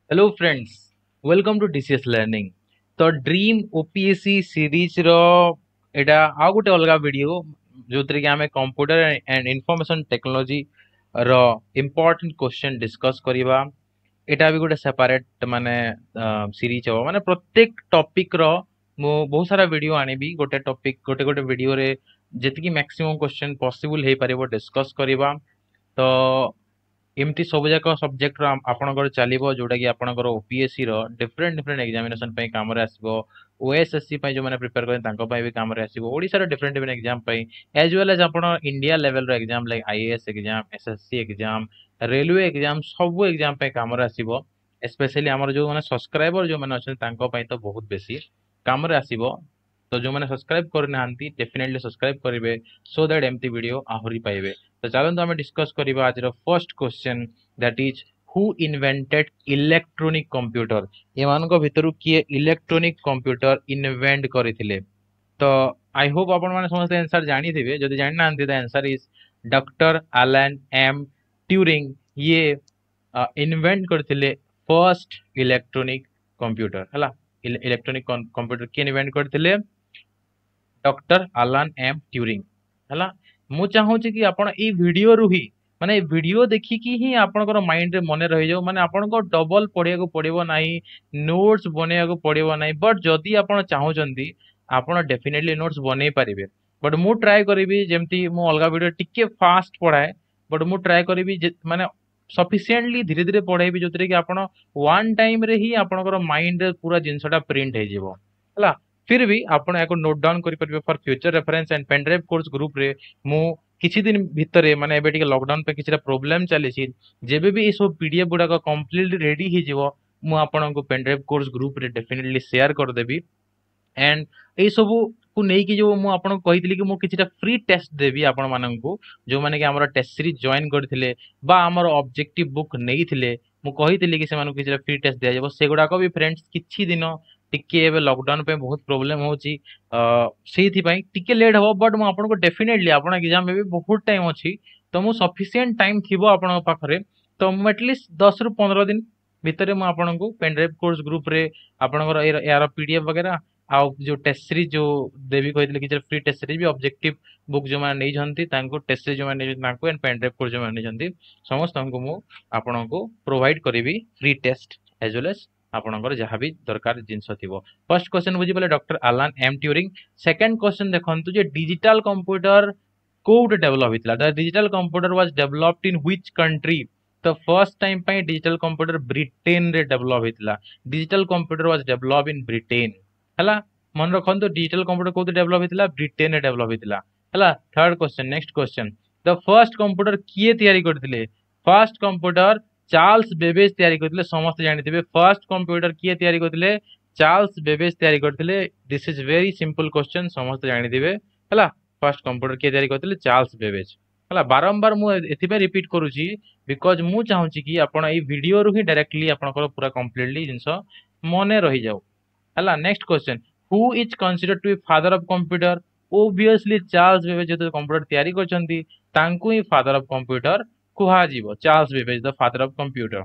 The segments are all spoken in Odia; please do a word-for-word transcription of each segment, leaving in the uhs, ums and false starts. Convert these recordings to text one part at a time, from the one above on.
Hello friends welcome to DCS Learning ତ ଡ୍ରିମ୍ ଓପିଏସସି ସିରିଜର ଏଇଟା ଆଉ ଗୋଟେ ଅଲଗା ଭିଡ଼ିଓ ଯୋଉଥିରେ କି ଆମେ କମ୍ପ୍ୟୁଟର ଆଣ୍ଡ ଇନଫର୍ମେସନ ଟେକ୍ନୋଲୋଜିର ଇମ୍ପୋର୍ଟାଣ୍ଟ କ୍ୱେଶ୍ଚନ୍ ଡିସ୍କସ୍ କରିବା ଏଇଟା ବି ଗୋଟେ ସେପାରେଟ ମାନେ ସିରିଜ ହବ ମାନେ ପ୍ରତ୍ୟେକ ଟପିକର ମୁଁ ବହୁତ ସାରା ଭିଡ଼ିଓ ଆଣିବି ଗୋଟେ ଟପିକ ଗୋଟେ ଗୋଟେ ଭିଡ଼ିଓରେ ଯେତିକି ମ୍ୟାକ୍ସିମମ୍ କ୍ୱେଶ୍ଚନ୍ ପସିବୁଲ ହେଇପାରିବ ଡିସ୍କସ୍ କରିବା ତ ଏମିତି ସବୁ ଯାକ ସବଜେକ୍ଟର ଆପଣଙ୍କର ଚାଲିବ ଯୋଉଟା କି ଆପଣଙ୍କର ଓପିଏସସି ର ଡିଫରେଣ୍ଟ ଡିଫରେଣ୍ଟ ଏକ୍ଜାମିନେସନ ପାଇଁ କାମରେ ଆସିବ ଓଏସଏସସି ପାଇଁ ଯୋଉମାନେ ପ୍ରିପେୟାର କରନ୍ତି ତାଙ୍କ ପାଇଁ ବି କାମରେ ଆସିବ ଓଡ଼ିଶାର ଡିଫରେଣ୍ଟ ଡିଫରେଣ୍ଟ ଏକ୍ଜାମ ପାଇଁ ଏଜ୍ ୱେଲ୍ ଏଜ୍ ଆପଣ ଇଣ୍ଡିଆ ଲେଭେଲର exam like IAS exam SSC exam railway exam ସବୁ ଏକ୍ଜାମ ପାଇଁ କାମରେ ଆସିବ ଏସ୍ପେଶାଲି ଆମର ଯୋଉମାନେ ସବସ୍କ୍ରାଇବର ଯୋଉମାନେ ଅଛନ୍ତି ତାଙ୍କ ପାଇଁ ତ ବହୁତ ବେଶୀ କାମରେ ଆସିବ ତ ଯୋଉମାନେ ସବସ୍କ୍ରାଇବ କରିନାହାନ୍ତି ଡେଫିନେଟଲି ସବସ୍କ୍ରାଇବ କରିବେ ସୋ that ଏମିତି ଭିଡ଼ିଓ ଆହୁରି ପାଇବେ ତ ଚାଲନ୍ତୁ ଆମେ ଡିସ୍କସ୍ କରିବା ଆଜିର first question that is who invented electronic computer ଏମାନଙ୍କ ଭିତରୁ କିଏ ଇଲେକ୍ଟ୍ରୋନିକ କମ୍ପ୍ୟୁଟର ଇନଭେଣ୍ଟ କରିଥିଲେ ତ I Hope ଆପଣମାନେ ସମସ୍ତେ ଆନ୍ସର ଜାଣିଥିବେ ଯଦି ଜାଣିନାହାନ୍ତି the answer is Doctor Alan M Turing ଇଏ ଇନଭେଣ୍ଟ କରିଥିଲେ ଫର୍ଷ୍ଟ ଇଲେକ୍ଟ୍ରୋନିକ କମ୍ପ୍ୟୁଟର ହେଲା ଇଲେକ୍ଟ୍ରୋନିକ କମ୍ପ୍ୟୁଟର କିଏ ଇନଭେଣ୍ଟ କରିଥିଲେ ଡକ୍ଟର ଆଲାନ ଏମ୍ ଟ୍ୟୁରିଂ ହେଲା ମୁଁ ଚାହୁଁଛି କି ଆପଣ ଏଇ ଭିଡ଼ିଓରୁ ହିଁ ମାନେ ଏ ଭିଡ଼ିଓ ଦେଖିକି ହିଁ ଆପଣଙ୍କର ମାଇଣ୍ଡରେ ମନେ ରହିଯାଉ ମାନେ ଆପଣଙ୍କ ଡବଲ ପଢିବାକୁ ପଡିବ ନାହିଁ ନୋଟ୍ସ ବନେଇବାକୁ ପଡିବ ନାହିଁ ବଟ୍ ଯଦି ଆପଣ ଚାହୁଁଛନ୍ତି ଆପଣ ଡେଫିନେଟଲି ନୋଟ୍ସ ବନେଇ ପାରିବେ ବଟ୍ ମୁଁ ଟ୍ରାଏ କରିବି ଯେମିତି ମୁଁ ଅଲଗା ଭିଡ଼ିଓ ଟିକେ ଫାଷ୍ଟ ପଢାଏ ବଟ୍ ମୁଁ ଟ୍ରାଏ କରିବି ଯେ ମାନେ ସଫିସିଏଣ୍ଟଲି ଧୀରେ ଧୀରେ ପଢେଇବି ଯୋଉଥିରେ କି ଆପଣ ୱାନ୍ ଟାଇମରେ ହିଁ ଆପଣଙ୍କର ମାଇଣ୍ଡରେ ପୁରା ଜିନିଷଟା ପ୍ରିଣ୍ଟ ହେଇଯିବ ହେଲା फिर भी ଆପଣ ଏହାକୁ ନୋଟ୍ ଡାଉନ୍ କରିପାରିବେ for future reference and pen drive course ଗ୍ରୁପରେ ମୁଁ କିଛି ଦିନ ଭିତରେ ମାନେ ଏବେ ଟିକେ ଲକଡାଉନ ପାଇଁ କିଛିଟା ପ୍ରୋବ୍ଲେମ ଚାଲିଛି ଯେବେ ବି ଏସବୁ ପିଡିଏଫ୍ ଗୁଡାକ କମ୍ପ୍ଲିଟଲି ରେଡି ହେଇଯିବ ମୁଁ ଆପଣଙ୍କୁ ପେନ୍ ଡ୍ରାଇଭ୍ କୋର୍ସ ଗ୍ରୁପରେ ଡେଫିନେଟଲି ସେୟାର କରିଦେବି ଆଣ୍ଡ ଏଇ ସବୁକୁ ନେଇକି ଯୋଉ ମୁଁ ଆପଣଙ୍କୁ କହିଥିଲି କି ମୁଁ କିଛିଟା ଫ୍ରି ଟେଷ୍ଟ ଦେବି ଆପଣମାନଙ୍କୁ ଯୋଉମାନେ କି ଆମର ଟେଷ୍ଟ ସିରିଜ ଜଏନ୍ କରିଥିଲେ ବା ଆମର ଅବଜେକ୍ଟିଭ ବୁକ୍ ନେଇଥିଲେ ମୁଁ କହିଥିଲି କି ସେମାନଙ୍କୁ କିଛିଟା ଫ୍ରି ଟେଷ୍ଟ ଦିଆଯିବ ସେଗୁଡାକ ବି ଫ୍ରେଣ୍ଡସ୍ କିଛି ଦିନ ଟିକେ ଏବେ ଲକଡାଉନ ପାଇଁ ବହୁତ ପ୍ରୋବ୍ଲେମ ହଉଛି ସେଇଥିପାଇଁ ଟିକେ ଲେଟ୍ ହବ ବଟ୍ ମୁଁ ଆପଣଙ୍କୁ ଡେଫିନେଟଲି ଆପଣ ଏକ୍ଜାମ ଏବେ ବହୁତ ଟାଇମ ଅଛି ତ ମୁଁ ସଫିସିଏଣ୍ଟ ଟାଇମ ଥିବ ଆପଣଙ୍କ ପାଖରେ ତ ମୁଁ ଆଟଲିଷ୍ଟ ଦଶରୁ ପନ୍ଦର ଦିନ ଭିତରେ ମୁଁ ଆପଣଙ୍କୁ ପେନ୍ ଡ୍ରାଇଭ୍ କୋର୍ସ ଗ୍ରୁପରେ ଆପଣଙ୍କର ଏହାର ପିଡିଏଫ୍ ବଗେରା ଆଉ ଯୋଉ ଟେଷ୍ଟ ସିରିଜ ଯୋଉ ଦେବି କହିଥିଲି କିଛି ଫ୍ରି ଟେଷ୍ଟ ସିରିଜ ବି ଅବଜେକ୍ଟିଭ ବୁକ୍ ଯୋଉମାନେ ନେଇଛନ୍ତି ତାଙ୍କୁ ଟେଷ୍ଟ ସିରିଜ ଯୋଉମାନେ ନେଇଛନ୍ତି ତାଙ୍କୁ ଆଣ୍ଡ ପେନ୍ ଡ୍ରାଇଭ୍ କୋର୍ସ ଯୋଉମାନେ ନେଇଛନ୍ତି ସମସ୍ତଙ୍କୁ ମୁଁ ଆପଣଙ୍କୁ ପ୍ରୋଭାଇଡ କରିବି free test as well as ଆପଣଙ୍କର ଯାହା ବି ଦରକାର ଜିନିଷ ଥିବ ଫର୍ଷ୍ଟ କ୍ୱେଶ୍ଚନ ବୁଝିପାରିଲେ doctor Alan M Turing second question ଦେଖନ୍ତୁ ଯେ ଡିଜିଟାଲ କମ୍ପ୍ୟୁଟର କୋଉଠି ଡେଭଲପ ହେଇଥିଲା the digital computer was developed in which country ତ ଫର୍ଷ୍ଟ ଟାଇମ ପାଇଁ ଡିଜିଟାଲ କମ୍ପ୍ୟୁଟର ବ୍ରିଟେନରେ ଡେଭଲପ ହେଇଥିଲା digital computer was develop in Britain ହେଲା ମନେ ରଖନ୍ତୁ ଡିଜିଟାଲ କମ୍ପ୍ୟୁଟର କୋଉଠି ଡେଭଲପ ହେଇଥିଲା ବ୍ରିଟେନରେ ଡେଭଲପ ହେଇଥିଲା ହେଲା third question next question the first computer କିଏ ତିଆରି କରିଥିଲେ ଫର୍ଷ୍ଟ କମ୍ପ୍ୟୁଟର ଚାର୍ଲସ ବେବେଜ ତିଆରି କରିଥିଲେ ସମସ୍ତେ ଜାଣିଥିବେ ଫର୍ଷ୍ଟ କମ୍ପ୍ୟୁଟର କିଏ ତିଆରି କରିଥିଲେ ଚାର୍ଲସ ବେବେଜ ତିଆରି କରିଥିଲେ this is very simple question ସମସ୍ତେ ଜାଣିଥିବେ ହେଲା ଫର୍ଷ୍ଟ କମ୍ପ୍ୟୁଟର କିଏ ତିଆରି କରିଥିଲେ ଚାର୍ଲସ ବେବେଜ ହେଲା ବାରମ୍ବାର ମୁଁ ଏଥିପାଇଁ ରିପିଟ କରୁଛି because ମୁଁ ଚାହୁଁଛି କି ଆପଣ ଏଇ ଭିଡ଼ିଓରୁ ହିଁ ଡାଇରେକ୍ଟଲି ଆପଣଙ୍କର ପୁରା କମ୍ପ୍ଲିଟଲି ଜିନିଷ ମନେ ରହିଯାଉ ହେଲା next question who is consider to be father of computer obviously Charles Babbage ଯେହେତୁ କମ୍ପ୍ୟୁଟର ତିଆରି କରିଛନ୍ତି ତାଙ୍କୁ ହିଁ ଫାଦର ଅଫ କମ୍ପ୍ୟୁଟର କୁହାଯିବ Charles Babbage the father of computer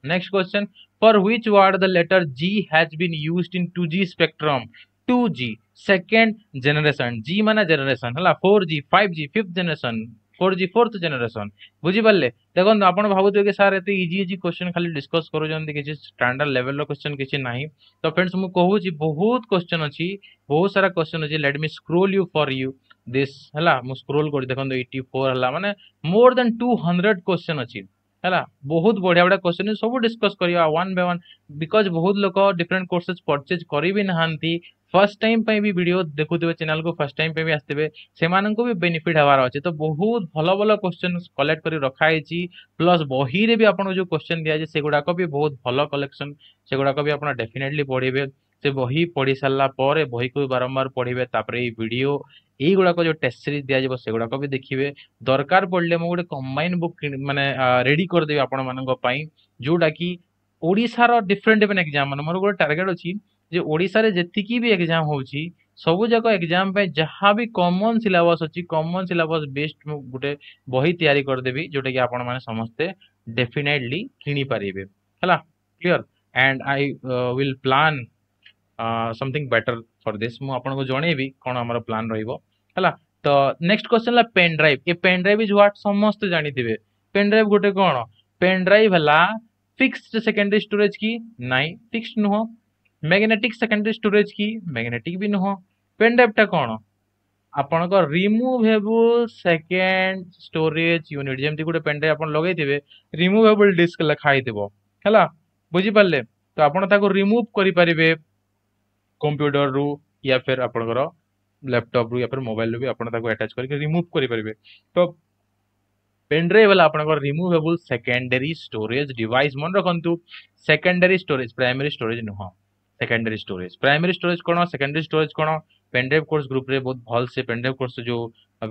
next question for which word the letter G has been used in two G spectrum two G second generation G ମାନେ ଜେନେରେସନ ହେଲା four G five G fifth generation four G fourth generation ବୁଝିପାରିଲେ ଦେଖନ୍ତୁ ଆପଣ ଭାବୁଥିବେ କି ସାର୍ ଏତେ ଇଜି ଇଜି କ୍ୱେଶ୍ଚନ ଖାଲି ଡିସ୍କସ୍ କରୁଛନ୍ତି କିଛି ଷ୍ଟାଣ୍ଡାର୍ଡ ଲେଭେଲର କ୍ୱେଶ୍ଚନ କିଛି ନାହିଁ ତ ଫ୍ରେଣ୍ଡସ୍ ମୁଁ କହୁଛି ବହୁତ କ୍ୱେଶ୍ଚନ ଅଛି ବହୁତ ସାରା କ୍ୱେଶ୍ଚନ ଅଛି let me scroll you for you this ହେଲା ମୁଁ ସ୍କ୍ରୋଲ କରି ଦେଖନ୍ତୁ ଏଇଟି ଫୋର୍ ହେଲା ମାନେ more than two hundred question ଅଛି ହେଲା ବହୁତ ବଢିଆ ବଢିଆ କ୍ୱେଶ୍ଚନ ସବୁ ଡିସ୍କସ୍ କରିବା ୱାନ୍ ବାଇ ୱାନ୍ because ବହୁତ ଲୋକ ଡିଫରେଣ୍ଟ କୋର୍ସେସ୍ ପରଚେଜ କରି ବି ନାହାନ୍ତି ଫର୍ଷ୍ଟ ଟାଇମ ପାଇଁ ବି ଭିଡ଼ିଓ ଦେଖୁଥିବେ ଚ୍ୟାନେଲକୁ ଫର୍ଷ୍ଟ ଟାଇମ ପାଇଁ ବି ଆସିଥିବେ ସେମାନଙ୍କୁ ବି ବେନିଫିଟ ହେବାର ଅଛି ତ ବହୁତ ଭଲ ଭଲ କ୍ୱେଶ୍ଚନ କଲେକ୍ଟ କରି ରଖାହେଇଛି ପ୍ଲସ୍ ବହିରେ ବି ଆପଣଙ୍କୁ ଯୋଉ କ୍ୱେଶ୍ଚନ ଦିଆଯାଇଛି ସେଗୁଡାକ ବି ବହୁତ ଭଲ କଲେକ୍ସନ ସେଗୁଡାକ ବି ଆପଣ ଡେଫିନେଟଲି ପଢିବେ ସେ ବହି ପଢି ସାରିଲା ପରେ ବହିକୁ ବି ବାରମ୍ବାର ପଢିବେ ତାପରେ ଏଇ ଭିଡ଼ିଓ ଏଇଗୁଡାକ ଯୋଉ ଟେଷ୍ଟ ସିରିଜ ଦିଆଯିବ ସେଗୁଡାକ ବି ଦେଖିବେ ଦରକାର ପଡିଲେ ମୁଁ ଗୋଟେ କମ୍ବାଇନ ବୁକ୍ ମାନେ ରେଡି କରିଦେବି ଆପଣମାନଙ୍କ ପାଇଁ ଯୋଉଟା କି ଓଡ଼ିଶାର ଡିଫରେଣ୍ଟ ଡିଫରେଣ୍ଟ ଏକ୍ଜାମ ମାନେ ମୋର ଗୋଟେ ଟାର୍ଗେଟ ଅଛି ଯେ ଓଡ଼ିଶାରେ ଯେତିକି ବି ଏକ୍ଜାମ ହଉଛି ସବୁ ଯାକ ଏକ୍ଜାମ ପାଇଁ ଯାହା ବି କମନ ସିଲାବସ ଅଛି କମନ ସିଲାବସ ବେସ୍ଡ ମୁଁ ଗୋଟେ ବହି ତିଆରି କରିଦେବି ଯୋଉଟା କି ଆପଣମାନେ ସମସ୍ତେ ଡେଫିନେଟଲି କିଣିପାରିବେ ହେଲା Clear? And I will plan something better for this. ମୁଁ ଆପଣଙ୍କୁ ଜଣେଇବି କ'ଣ ଆମର ପ୍ଲାନ୍ ରହିବ, ହେଲା? ତ ନେକ୍ସଟ କ୍ୱେଶ୍ଚନ ହେଲା pain drive. A pen drive is what? ସମସ୍ତେ ଜାଣିଥିବେ ପେନ୍ ଡ୍ରାଇଭ୍ ଗୋଟେ କ'ଣ। ପେନ୍ ଡ୍ରାଇଭ୍ ହେଲା ଫିକ୍ସଡ ସେକେଣ୍ଡାରୀ ଷ୍ଟୋରେଜ କି? ନାଇଁ, ଫିକ୍ସଡ ନୁହଁ। ମ୍ୟାଗ୍ନେଟିକ୍ ସେକେଣ୍ଡାରୀ ଷ୍ଟୋରେଜ କି? ମ୍ୟାଗ୍ନେଟିକ୍ ବି ନୁହଁ। ପେନ୍ ଡ୍ରାଇଭ୍ଟା କ'ଣ? ଆପଣଙ୍କ ରିମୁଭେବୁଲ ସେକେଣ୍ଡ ଷ୍ଟୋରେଜ ୟୁନିଟ୍। ଯେମିତି ଗୋଟେ ପେନ୍ ଡ୍ରାଇଭ୍ ଆପଣ ଲଗେଇଥିବେ, ରିମୁଭେବୁଲ ଡିସ୍କ ଲେଖା ହେଇଥିବ, ହେଲା? ବୁଝିପାରିଲେ ତ? ଆପଣ ତାକୁ ରିମୁଭ୍ କରିପାରିବେ କମ୍ପ୍ୟୁଟରରୁ ୟା ଫିର ଆପଣଙ୍କର ଲ୍ୟାପଟପରୁ ୟା ଫିର ମୋବାଇଲରୁ ବି ଆପଣ ତାକୁ ଆଟାଚ୍ କରିକି ରିମୁଭ୍ କରିପାରିବେ। ତ ପେନ୍ ଡ୍ରାଇଭ୍ ହେଲା ଆପଣଙ୍କର ରିମୁଭେବୁଲ ସେକେଣ୍ଡାରୀ ଷ୍ଟୋରେଜ ଡିଭାଇସ୍। ମନେ ରଖନ୍ତୁ, ସେକେଣ୍ଡାରୀ ଷ୍ଟୋରେଜ, ପ୍ରାଇମେରୀ ଷ୍ଟୋରେଜ ନୁହଁ। ସେକେଣ୍ଡାରୀ ଷ୍ଟୋରେଜ, ପ୍ରାଇମେରୀ ଷ୍ଟୋରେଜ କ'ଣ, ସେକେଣ୍ଡାରୀ ଷ୍ଟୋରେଜ କ'ଣ, ପେନ୍ ଡ୍ରାଇଭ୍ କୋର୍ସ ଗ୍ରୁପରେ ବହୁତ ଭଲସେ ପେନ୍ ଡ୍ରାଇଭ୍ କୋର୍ସ ଯେଉଁ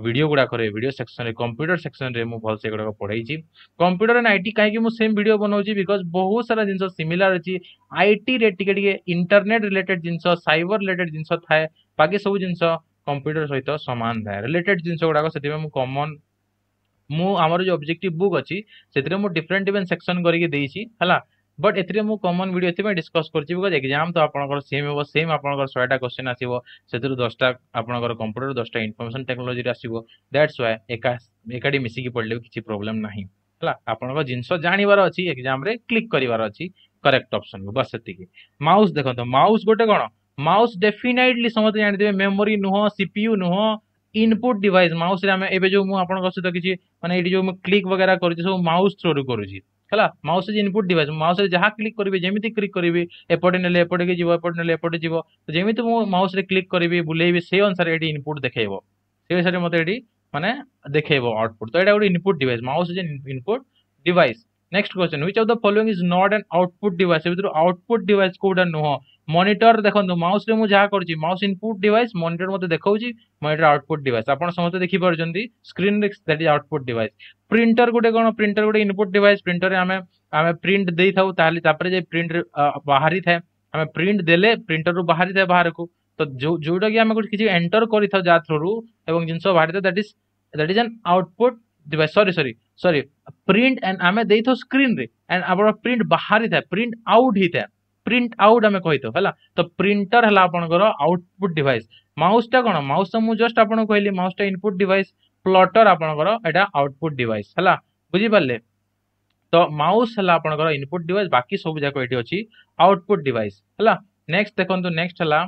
ଭିଡ଼ିଓ ଗୁଡ଼ାକରେ, ଭିଡ଼ିଓ ସେକ୍ସନରେ, କମ୍ପ୍ୟୁଟର ସେକ୍ସନରେ ମୁଁ ଭଲସେ ଏଗୁଡ଼ାକ ପଢ଼େଇଛି। କମ୍ପ୍ୟୁଟର ଆଣ୍ଡ IT କାହିଁକି ମୁଁ ସେମ୍ ଭିଡ଼ିଓ ବନାଉଛି? Because ବହୁତ ସାରା ଜିନିଷ ସିମିଲାର ଅଛି। ଆଇଟିରେ ଟିକେ ଟିକେ ଇଣ୍ଟରନେଟ୍ ରିଲେଟେଡ୍ ଜିନିଷ, ସାଇବର ରିଲେଟେଡ୍ ଜିନିଷ ଥାଏ। ବାକି ସବୁ ଜିନିଷ କମ୍ପ୍ୟୁଟର ସହିତ ସମାନ ଥାଏ, ରିଲେଟେଡ୍ ଜିନିଷ ଗୁଡ଼ାକ। ସେଥିପାଇଁ ମୁଁ କମନ୍ ମୁଁ ଆମର ଯେଉଁ ଅବଜେକ୍ଟିଭ ବୁକ୍ ଅଛି, ସେଥିରେ ମୁଁ ଡିଫରେଣ୍ଟ ଡିଫରେଣ୍ଟ ସେକ୍ସନ କରିକି ଦେଇଛି, ହେଲା? ବଟ୍ ଏଥିରେ ମୁଁ କମନ୍ ଭିଡ଼ିଓ ଏଥିପାଇଁ ଡିସ୍କସ୍ କରୁଛି, because exam ତ ଆପଣଙ୍କର ସେମ୍ ହେବ। ସେମ୍ ଆପଣଙ୍କର ଶହେଟା କ୍ୱେଶ୍ଚନ୍ ଆସିବ, ସେଥିରୁ ଦଶଟା ଆପଣଙ୍କର କମ୍ପ୍ୟୁଟର, ଦଶଟା ଇନଫର୍ମେସନ୍ ଟେକ୍ନୋଲୋଜିରେ ଆସିବ। That's Y ଏକା ଏକାଠି ମିଶିକି ପଢ଼ିଲେ ବି କିଛି ପ୍ରୋବ୍ଲେମ୍ ନାହିଁ, ହେଲା? ଆପଣଙ୍କ ଜିନିଷ ଜାଣିବାର ଅଛି, ଏକ୍ଜାମ୍ରେ କ୍ଲିକ୍ କରିବାର ଅଛି କରେକ୍ଟ ଅପସନ୍କୁ, ବାସ୍ ସେତିକି। ମାଉସ୍ ଦେଖନ୍ତୁ, ମାଉସ୍ ଗୋଟେ କ'ଣ? ମାଉସ୍ ଡେଫିନାଇଟଲି ସମସ୍ତେ ଜାଣିଥିବେ, ମେମୋରି ନୁହଁ, ସିପିୟୁ ନୁହଁ, ଇନପୁଟ ଡିଭାଇସ୍। ମାଉସରେ ଆମେ ଏବେ ଯୋଉ ମୁଁ ଆପଣଙ୍କ ସହିତ କିଛି ମାନେ ଏଇଠି ଯୋଉ ମୁଁ କ୍ଲିକ୍ ବଗେରା କରୁଛି, ସବୁ ମାଉସ୍ ଥ୍ରୋରୁ କରୁଛି, ହେଲା? Mouse is input device. ମାଉସରେ ଯାହା କ୍ଲିକ୍ କରିବେ, ଯେମିତି କ୍ଲିକ୍ କରିବି, ଏପଟେ ନେଲେ ଏପଟେ ଯିବ, ଏପଟେ ନେଲେ ଏପଟେ ଯିବ। ତ ଯେମିତି ମୁଁ ମାଉସରେ କ୍ଲିକ୍ କରିବି, ବୁଲେଇବି, ସେଇ ଅନୁସାରେ ଏଠି ଇନପୁଟ ଦେଖେଇବ, ସେଇ ଅନୁସାରେ ମୋତେ ଏଠି ମାନେ ଦେଖେଇବ ଆଉଟପୁଟ୍। ତ ଏଇଟା ଗୋଟେ input device. Mouse is input device. Next question, which of the following is not an output device? ସେ ଭିତରୁ ଆଉଟପୁଟ୍ ଡିଭାଇସ୍ କୋଉଟା ନୁହଁ? ମନିଟର। ଦେଖନ୍ତୁ, ମାଉସରେ ମୁଁ ଯାହା କରୁଛି, ମାଉସ ଇନପୁଟ ଡିଭାଇସ୍। ମନିଟର ମୋତେ ଦେଖାଉଛି, ମନିଟର ଆଉଟପୁଟ୍ ଡିଭାଇସ୍। ଆପଣ ସମସ୍ତେ ଦେଖିପାରୁଛନ୍ତି ସ୍କ୍ରିନରେ, that is output device. Printer ଗୋଟେ କ'ଣ? ପ୍ରିଣ୍ଟର ଗୋଟେ ଇନପୁଟ ଡିଭାଇସ୍। ପ୍ରିଣ୍ଟରରେ ଆମେ ଆମେ ପ୍ରିଣ୍ଟ ଦେଇଥାଉ, ତାହେଲେ ତାପରେ ଯାଇ ପ୍ରିଣ୍ଟ ବାହାରିଥାଏ। ଆମେ ପ୍ରିଣ୍ଟ ଦେଲେ ପ୍ରିଣ୍ଟରରୁ ବାହାରିଥାଏ ବାହାରକୁ। ତ ଯୋଉ ଯୋଉଟା କି ଆମେ ଗୋଟେ କିଛି ଏଣ୍ଟର କରିଥାଉ ଯାହା ଥ୍ରୋରୁ ଏବଂ ଜିନିଷ ବାହାରିଥାଏ, that is that is an output device. Sorry, sorry, sorry, print and ଆମେ ଦେଇଥାଉ ସ୍କ୍ରିନରେ ଆଣ୍ଡ ଆପଣ ପ୍ରିଣ୍ଟ ବାହାରିଥାଏ, ପ୍ରିଣ୍ଟ ଆଉଟ୍ ହେଇଥାଏ, ପ୍ରିଣ୍ଟ ଆଉଟ୍ ଆମେ କହିଥାଉ, ହେଲା? ତ ପ୍ରିଣ୍ଟର ହେଲା ଆପଣଙ୍କର ଆଉଟପୁଟ୍ ଡିଭାଇସ୍। ମାଉସଟା କ'ଣ? ମାଉସ ମୁଁ ଜଷ୍ଟ ଆପଣଙ୍କୁ କହିଲି, ମାଉସଟା ଇନପୁଟ ଡିଭାଇସ୍। ପ୍ଲଟର ଆପଣଙ୍କର ଏଇଟା ଆଉଟପୁଟ୍ ଡିଭାଇସ୍, ହେଲା? ବୁଝିପାରିଲେ ତ? ମାଉସ ହେଲା ଆପଣଙ୍କର ଇନପୁଟ ଡିଭାଇସ୍, ବାକି ସବୁ ଯାକ ଏଠି ଅଛି ଆଉଟପୁଟ୍ ଡିଭାଇସ୍, ହେଲା? ନେକ୍ସଟ ଦେଖନ୍ତୁ, ନେକ୍ସଟ ହେଲା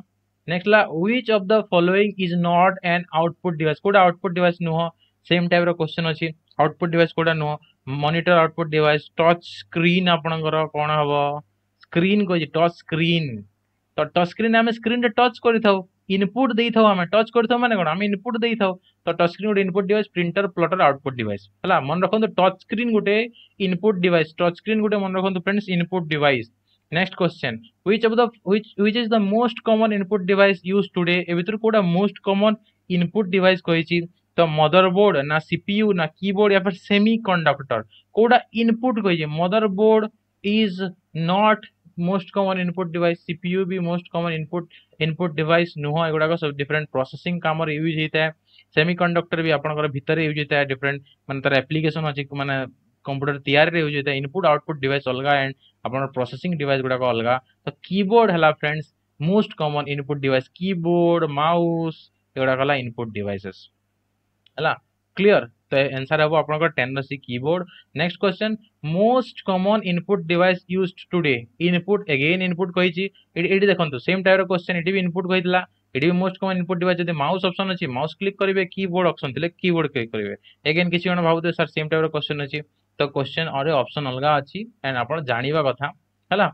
ନେକ୍ସଟ ହେଲା which of the following is not an output device? କୋଉଟା ଆଉଟପୁଟ୍ ଡିଭାଇସ୍ ନୁହଁ? ସେମ୍ ଟାଇପ୍ର କ୍ୱେଶ୍ଚନ୍ ଅଛି। ଆଉଟପୁଟ୍ ଡିଭାଇସ୍ କୋଉଟା ନୁହଁ? Monitor output device, touch screen ଆପଣଙ୍କର କ'ଣ ହବ? ସ୍କ୍ରିନ୍ କହିଛି, ଟଚ୍ ସ୍କ୍ରିନ୍। ତ ଟଚ୍ ସ୍କ୍ରିନ୍ ଆମେ ସ୍କ୍ରିନ୍ରେ ଟଚ୍ କରିଥାଉ, ଇନପୁଟ୍ ଦେଇଥାଉ। ଆମେ ଟଚ୍ କରିଥାଉ ମାନେ କ'ଣ? ଆମେ ଇନପୁଟ୍ ଦେଇଥାଉ। ତ ଟଚ୍ ସ୍କ୍ରିନ୍ ଗୋଟେ input device. Printer, plotter output device, ହେଲା? ମନେ ରଖନ୍ତୁ, ଟଚ୍ ସ୍କ୍ରିନ୍ ଗୋଟେ ଇନପୁଟ୍ ଡିଭାଇସ୍। ଟଚ୍ ସ୍କ୍ରିନ୍ ଗୋଟେ, ମନେ ରଖନ୍ତୁ friends, input device. Next question, which of the which which is the most common input device used today? ଏ ଭିତରୁ କୋଉଟା ମୋଷ୍ଟ କମନ୍ ଇନପୁଟ୍ ଡିଭାଇସ୍ କହିଛି। ତ ମଦରବୋର୍ଡ ନା ସିପିୟୁ ନା କିବୋର୍ଡ ୟା ଫିର ସେମି କଣ୍ଡକ୍ଟର, କୋଉଟା ଇନପୁଟ୍ କହିଛି? Motherboard is not most common input device. C P U B most common input input device ନୁହଁ। ଏଗୁଡ଼ାକ ସବୁ ଡିଫରେଣ୍ଟ ପ୍ରୋସେସିଂ କାମରେ ୟୁଜ୍ ହେଇଥାଏ। ସେମି କଣ୍ଡକ୍ଟର ବି ଆପଣଙ୍କର ଭିତରେ ୟୁଜ୍ ହେଇଥାଏ, ଡିଫରେଣ୍ଟ ମାନେ ତାର ଆପ୍ଲିକେସନ ଅଛି, ମାନେ କମ୍ପ୍ୟୁଟର ତିଆରିରେ ୟୁଜ୍ ହେଇଥାଏ। ଇନପୁଟ୍ ଆଉଟପୁଟ୍ ଡିଭାଇସ୍ ଅଲଗା ଆଣ୍ଡ ଆପଣଙ୍କର ପ୍ରୋସେସିଂ ଡିଭାଇସ୍ ଗୁଡ଼ାକ ଅଲଗା। ତ କିବୋର୍ଡ ହେଲା friends most common input device. Keyboard, mouse ଏଗୁଡ଼ାକ ହେଲା ଇନପୁଟ୍ ଡିଭାଇସେସ୍, ହେଲା? କ୍ଲିୟର? ତ ଆନ୍ସର ହେବ ଆପଣଙ୍କର ten C, keyboard. Next question, most common input device used today. Input, again input କହିଛି। ଏଠି ଏଠି ଦେଖନ୍ତୁ, ସେମ୍ ଟାଇପ୍ର କ୍ୱେଶ୍ଚନ୍, ଏଠି ବି ଇନପୁଟ୍ କହିଥିଲା, ଏଠି ବି ମୋଷ୍ଟ କମନ୍ ଇନପୁଟ୍ ଡିଭାଇସ୍। ଯଦି ମାଉସ୍ ଅପସନ୍ ଅଛି, ମାଉସ୍ କ୍ଲିକ୍ କରିବେ, କିବୋର୍ଡ ଅପସନ୍ ଥିଲେ କିବୋର୍ଡ କ୍ଲିକ୍ କରିବେ। ଏଗେନ୍ କିଛି ଜଣ ଭାବୁଥିବେ, ସାର୍, ସେମ୍ ଟାଇପ୍ର କ୍ୱେଶ୍ଚନ୍ ଅଛି। ତ କ୍ୱେଶ୍ଚନ୍ ଅରେ ଅପସନ୍ ଅଲଗା ଅଛି ଆଣ୍ଡ ଆପଣ ଜାଣିବା କଥା, ହେଲା?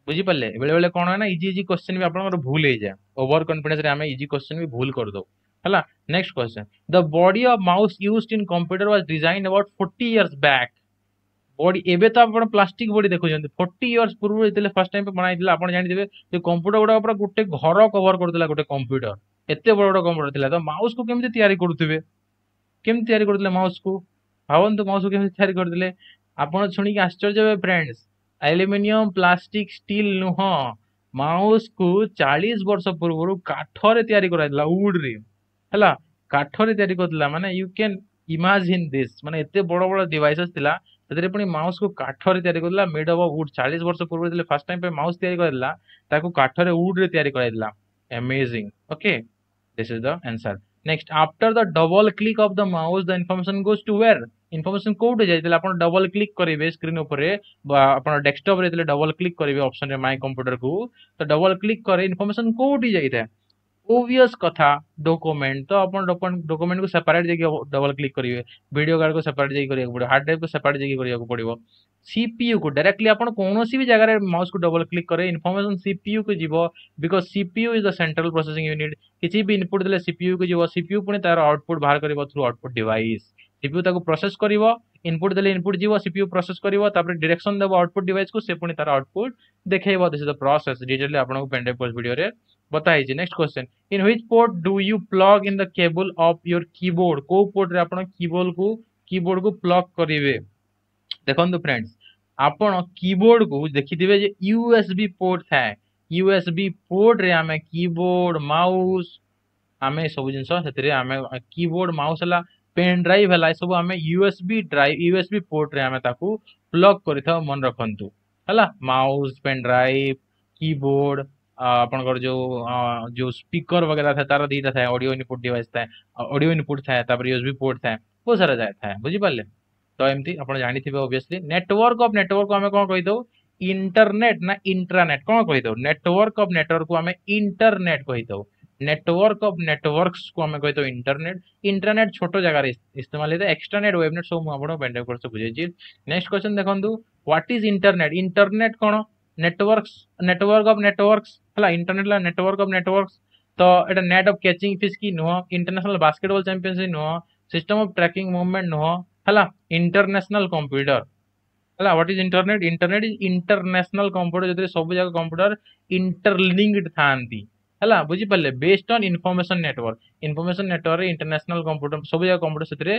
ବୁଝିପାରିଲେ? ବେଳେ ବେଳେ କ'ଣ ହୁଏ ନା, ଇଜି ଇଜି କ୍ୱେଶ୍ଚନ୍ ବି ଆପଣଙ୍କର ଭୁଲ ହେଇଯାଏ। ଓଭର କନଫିଡେନ୍ସରେ ଆମେ ଇଜି କ୍ୱେଶ୍ଚନ୍ ବି ଭୁଲ କରିଦେଉ, ହେଲା? Next question, the body of mouse used in computer was design about forty years back. Body, ଏବେ ତ ଆପଣ ପ୍ଲାଷ୍ଟିକ ବଡି ଦେଖୁଛନ୍ତି। ଫୋର୍ଟି ଇୟର୍ସ ପୂର୍ବରୁ ଯେତେବେଳେ ଫାର୍ଷ୍ଟ ଟାଇମ୍ ବନାଇଥିଲା, ଆପଣ ଜାଣିଥିବେ ଯେ କମ୍ପ୍ୟୁଟର ଗୁଡ଼ାକ ପୁରା ଗୋଟେ ଘର କଭର କରୁଥିଲା। ଗୋଟେ କମ୍ପ୍ୟୁଟର, ଏତେ ବଡ଼ ବଡ଼ କମ୍ପ୍ୟୁଟର ଥିଲା। ତ ମାଉସକୁ କେମିତି ତିଆରି କରୁଥିବେ? କେମିତି ତିଆରି କରୁଥିଲେ ମାଉସକୁ? ଭାବନ୍ତୁ, ମାଉସକୁ କେମିତି ତିଆରି କରୁଥିଲେ? ଆପଣ ଶୁଣିକି ଆଶ୍ଚର୍ଯ୍ୟ ହେବେ ଫ୍ରେଣ୍ଡସ୍, ଆଲୁମିନିୟମ, ପ୍ଲାଷ୍ଟିକ, ଷ୍ଟିଲ୍ ନୁହଁ। ମାଉସକୁ ଚାଳିଶ ବର୍ଷ ପୂର୍ବରୁ କାଠରେ ତିଆରି କରାଯାଇଥିଲା, ଉଡ୍ରେ, ହେଲା? କାଠରେ ତିଆରି କରୁଥିଲା। ମାନେ you can imagine this, ମାନେ ଏତେ ବଡ଼ ବଡ଼ ଡିଭାଇସେସ୍ ଥିଲା, ସେଥିରେ ପୁଣି ମାଉସକୁ କାଠରେ ତିଆରି କରିଥିଲା ମେଡ୍ ଅଫ୍ ଉଡ୍ ଚାଳିଶ ବର୍ଷ ପୂର୍ବରୁ ଯେତେବେଳେ ଫାର୍ଷ୍ଟ ଟାଇମ୍ ପାଇଁ ମାଉସ ତିଆରି କରିଥିଲା ତାକୁ କାଠରେ ଉଡ୍ରେ ତିଆରି କରାଯାଇଥିଲା amazing okay this is the answer next after the double click of the mouse the information goes to where information କୋଉଠି ଯାଏ ଯେତେବେଳେ ଆପଣ ଡବଲ କ୍ଲିକ୍ କରିବେ ସ୍କ୍ରିନ୍ ଉପରେ ବା ଆପଣ ଡେସ୍କଟପରେ ଯେତେବେଳେ ଡବଲ କ୍ଲିକ୍ କରିବେ ଅପସନରେ ମାଇ କମ୍ପ୍ୟୁଟରକୁ ତ ଡବଲ କ୍ଲିକ୍ କରେ ଇନଫର୍ମେସନ କୋଉଠି ଯାଇଥାଏ ଓବିୟସ୍ କଥା ଡକୁମେଣ୍ଟ ତ ଆପଣ ଡକୁମେଣ୍ଟକୁ ସେପାରେଟ୍ ଯାଇକି ଡବଲ କ୍ଲିକ୍ କରିବେ ଭିଡ଼ିଓ କାର୍ଡ଼କୁ ସେପାରେଟ୍ ଯାଇକି କରିବାକୁ ପଡ଼ିବ ହାର୍ଡ ଡ୍ରାଇଭ୍କୁ ସେପାରେଟ୍ ଯାଇକି କରିବାକୁ ପଡ଼ିବ ସିପିୟୁ କୁ ଡାଇରେକ୍ଟଲି ଆପଣ କୌଣସି ବି ଜାଗାରେ ମାଉସକୁ ଡବଲ କ୍ଲିକ୍ କରେ ଇନଫର୍ମେସନ ସିପିୟୁ କୁ ଯିବ because CPU is the central processing unit କିଛି ବି ଇନପୁଟ୍ ଦେଲେ ସିପିୟୁ କୁ ଯିବ ସିପିୟୁ ପୁଣି ତାର ଆଉଟପୁଟ୍ ବାହାର କରିବ ଥ୍ରୁ ଆଉଟପୁଟ୍ ଡିଭାଇସ୍ ସିପିୟୁ ତାକୁ ପ୍ରୋସେସ କରିବ ଇନପୁଟ୍ ଦେଲେ ଇନପୁଟ୍ ଯିବ ସିପିୟୁ ପ୍ରୋସେସ କରିବ ତାପରେ ଡିରେକ୍ସନ ଦେବ ଆଉଟପୁଟ୍ ଡିଭାଇସ୍ କୁ ସେ ପୁଣି ତାର ଆଉଟପୁଟ୍ ଦେଖେଇବ this is the process detail ଆପଣଙ୍କୁ ପେନ୍ କୋର୍ସ ଭିଡ଼ିଓରେ ବତା ହେଇଛି next question in which port do you plug in the cable of your keyboard କୋଉ ପୋର୍ଟରେ ଆପଣ କିବୋର୍ଡ କୁ କିବୋର୍ଡ କୁ ପ୍ଲଗ କରିବେ ଦେଖନ୍ତୁ ଫ୍ରେଣ୍ଡସ୍ ଆପଣ କିବୋର୍ଡ କୁ ଦେଖିଥିବେ ଯେ ୟୁଏସବି ପୋର୍ଟ ଥାଏ ୟୁଏସବି ପୋର୍ଟରେ ଆମେ କିବୋର୍ଡ ମାଉସ ଆମେ ସବୁ ଜିନିଷ ସେଥିରେ ଆମେ କିବୋର୍ଡ ମାଉସ ହେଲା ପେନ୍ ଡ୍ରାଇଭ୍ ହେଲା ଏସବୁ ଆମେ ୟୁଏସବି ଡ୍ରାଇଭ୍ ୟୁଏସବି ପୋର୍ଟରେ ଆମେ ତାକୁ ପ୍ଲଗ କରିଥାଉ ମନେ ରଖନ୍ତୁ ହେଲା ମାଉସ ପେନ୍ ଡ୍ରାଇଭ୍ କିବୋର୍ଡ ଆପଣଙ୍କର ଯୋଉ ଯୋଉ ସ୍ପିକର ବଗେରା ଥାଏ ତାର ଦିଟା ଥାଏ ଅଡିଓ ଇନପୁଟ ଡିଭାଇସ୍ ଥାଏ ଅଡିଓ ଇନପୁଟ ଥାଏ ତାପରେ ୟୁଏସବି ପୋର୍ଟ ଥାଏ ବହୁତ ସାରା ଥାଏ ବୁଝିପାରିଲେ ତ ଏମିତି ଆପଣ ଜାଣିଥିବେ ଅବଭିୟସଲି ନେଟୱାର୍କ ଅଫ ନେଟୱାର୍କ ଆମେ କଣ କହିଥାଉ ଇଣ୍ଟରନେଟ ନା ଇଣ୍ଟ୍ରାନେଟ କଣ କହିଥାଉ ନେଟୱାର୍କ ଅଫ ନେଟୱାର୍କ କୁ ଆମେ ଇଣ୍ଟରନେଟ କହିଥାଉ ନେଟୱାର୍କ ଅଫ ନେଟୱାର୍କସ କୁ ଆମେ କହିଥାଉ ଇଣ୍ଟରନେଟ ଇଣ୍ଟ୍ରାନେଟ ଛୋଟ ଜାଗାରେ ଇସ୍ତେମାଲ ହେଇଥାଏ ଏକ୍ସଟ୍ରାନେଟ ୱେବନେଟ ସବୁ ମୁଁ ଆପଣଙ୍କୁ ପେନ୍ କୋର୍ସ ବୁଝେଇଛି ନେକ୍ସଟ କ୍ୱେଶ୍ଚନ ଦେଖନ୍ତୁ what is internet internet କଣ ନେଟୱାର୍କସ ନେଟୱାର୍କ ଅଫ ନେଟୱାର୍କସ ହେଲା ଇଣ୍ଟରନେଟ ହେଲା ନେଟୱାର୍କ ଅଫ ନେଟୱାର୍କସ ତ ଏଟା ନେଟ୍ ଅଫ କ୍ୟାଚିଂ ଫିସ୍ କି ନୁହଁ ଇଣ୍ଟରନ୍ୟାସନାଲ ବାସ୍କେଟବଲ ଚାମ୍ପିୟନସିପ ନୁହଁ ସିଷ୍ଟମ ଅଫ ଟ୍ରାକିଂ ମୁଭମେଣ୍ଟ ନୁହଁ ହେଲା ଇଣ୍ଟରନ୍ୟାସନାଲ କମ୍ପ୍ୟୁଟର ହେଲା what is internet internet is international computer ଯେଉଁଥିରେ ସବୁ ଯାକ କମ୍ପ୍ୟୁଟର ଇଣ୍ଟରଲିଙ୍କଡ ଥାନ୍ତି ହେଲା ବୁଝିପାରିଲେ based on information network information network international computer ସବୁ ଯାକ କମ୍ପ୍ୟୁଟର ସେଥିରେ